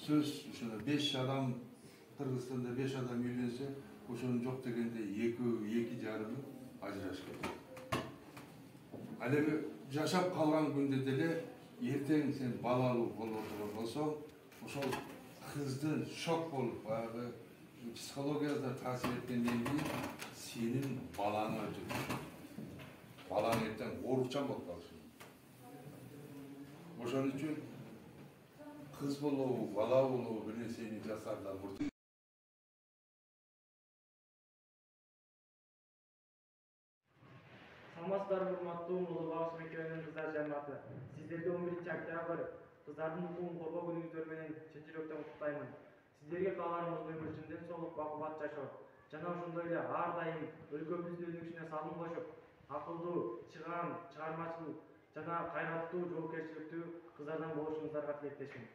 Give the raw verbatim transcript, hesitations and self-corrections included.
сөз ошо беш адам Кыргызстанда беш адам үйленсе, ошонун жок дегенде эки эки жарымы ажырашып кетет. Ал эми жашап калган күндө деле эртең сен балалуу болуп отурган болсоң, ошол кыздын шок болуп, баягы психологияда таасир эткенден кийин сенин балаңа өтөт. Балаң эртең оорукчан болуп калышы мүмкүн. Ошон үчүн кыз болобу, бала болобу бир нерсени жасаардан мурда Саламатсыздарбы, урматтуу Улуу Багыш мектебинин кыздар жамааты. Сиздерди он биринчи октябрь кыздардын укугун коргоо күнүңүздөр менен чын жүрөктөн куттуктаймын. Сиздерге каалаганыбыз өмүр үчүн ден соолук, бакубат жашоо жана ошондой эле ар дайым өлкөбүздүн өнүгүшүнө салым кошуп, акылдуу, чыгаан, чыгармачыл жана кайраттуу, жоопкерчиликтүү кыздардан болушуңуздарга тилектешмин.